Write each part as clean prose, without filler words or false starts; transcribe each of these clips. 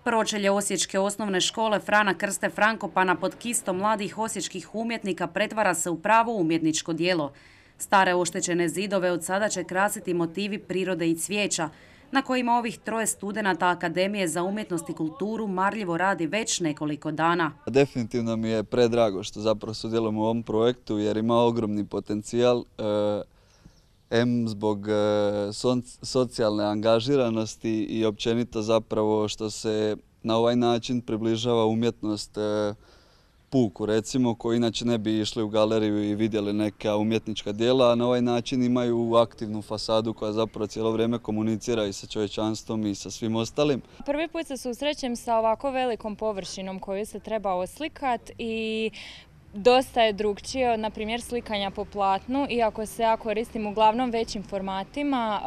Pročelje osječke osnovne škole Frana Krste Frankopana pod kistom mladih osječkih umjetnika pretvara se u pravo umjetničko djelo. Stare oštećene zidove od sada će krasiti motivi prirode i cvijeća, na kojima ovih troje studenata Akademije za umjetnost i kulturu marljivo radi već nekoliko dana. Definitivno mi je predrago što zapravo sudjelujem u ovom projektu jer ima ogromni potencijal. Zbog socijalne angažiranosti i općenito zapravo što se na ovaj način približava umjetnost puku, recimo, koji inače ne bi išli u galeriju i vidjeli neka umjetnička djela, a na ovaj način imaju aktivnu fasadu koja zapravo cijelo vrijeme komunicira i sa čovječanstvom i sa svim ostalim. Prvi put se susrećem sa ovako velikom površinom koju se treba oslikati i dosta je drukčije od, na primjer, slikanja po platnu, iako se ja koristim uglavnom većim formatima.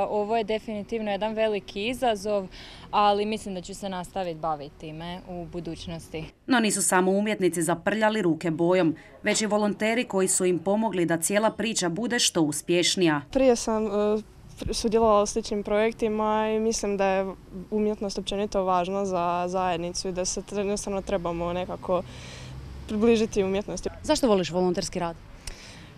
Ovo je definitivno jedan veliki izazov, ali mislim da ću se nastaviti baviti time u budućnosti. No nisu samo umjetnici zaprljali ruke bojom, već i volonteri koji su im pomogli da cijela priča bude što uspješnija. Prije sam sudjelovala u sličnim projektima i mislim da je umjetnost općenito važna za zajednicu i da se jednostavno trebamo nekako približiti umjetnosti. Zašto voliš volonterski rad?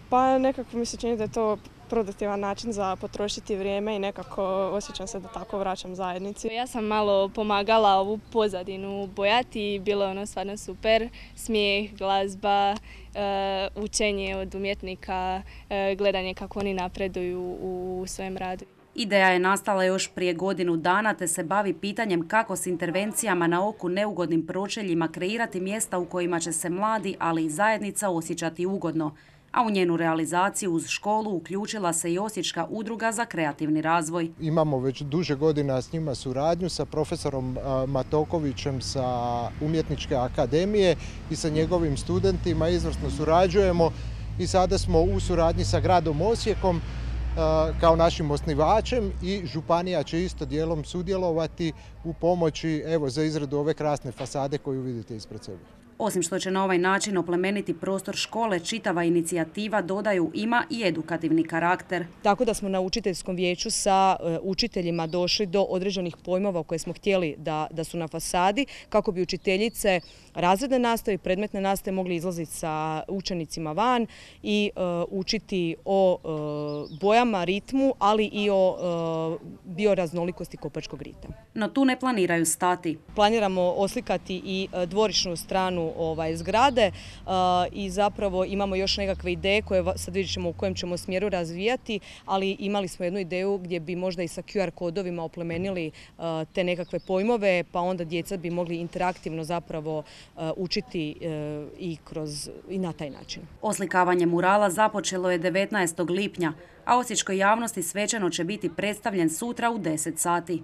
Pa nekako mi se čini da je to produktivan način za potrošiti vrijeme i nekako osjećam se da tako vraćam zajednici. Ja sam malo pomagala ovu pozadinu bojati i bilo je ono stvarno super. Smijeh, glazba, učenje od umjetnika, gledanje kako oni napreduju u svojem radu. Ideja je nastala još prije godinu dana te se bavi pitanjem kako s intervencijama na oku neugodnim pročeljima kreirati mjesta u kojima će se mladi, ali i zajednica osjećati ugodno. A u njenu realizaciju uz školu uključila se i Osječka udruga za kreativni razvoj. Imamo već duže godina s njima suradnju sa profesorom Matokovićem sa Umjetničke akademije i sa njegovim studentima izvrsno surađujemo i sada smo u suradnji sa gradom Osijekom kao našim osnivačem i županija će isto dijelom sudjelovati u pomoći za izradu ove krasne fasade koju vidite ispred sebe. Osim što će na ovaj način oplemeniti prostor škole, čitava inicijativa, dodaju, ima i edukativni karakter. Tako da smo na učiteljskom vijeću sa učiteljima došli do određenih pojmova koje smo htjeli da su na fasadi, kako bi učiteljice razredne nastave i predmetne nastave mogli izlaziti sa učenicima van i učiti o bojama, ritmu, ali i o bioraznolikosti Kopačkog rita. No tu ne planiraju stati. Planiramo oslikati i dvorišnu stranu zgrade i zapravo imamo još nekakve ideje koje sad vidjet ćemo u kojem ćemo smjeru razvijati, ali imali smo jednu ideju gdje bi možda i sa QR kodovima oplemenili te nekakve pojmove, pa onda djeca bi mogli interaktivno zapravo učiti i na taj način. Oslikavanje murala započelo je 19. lipnja, a osječkoj javnosti svečano će biti predstavljen sutra u 10 sati.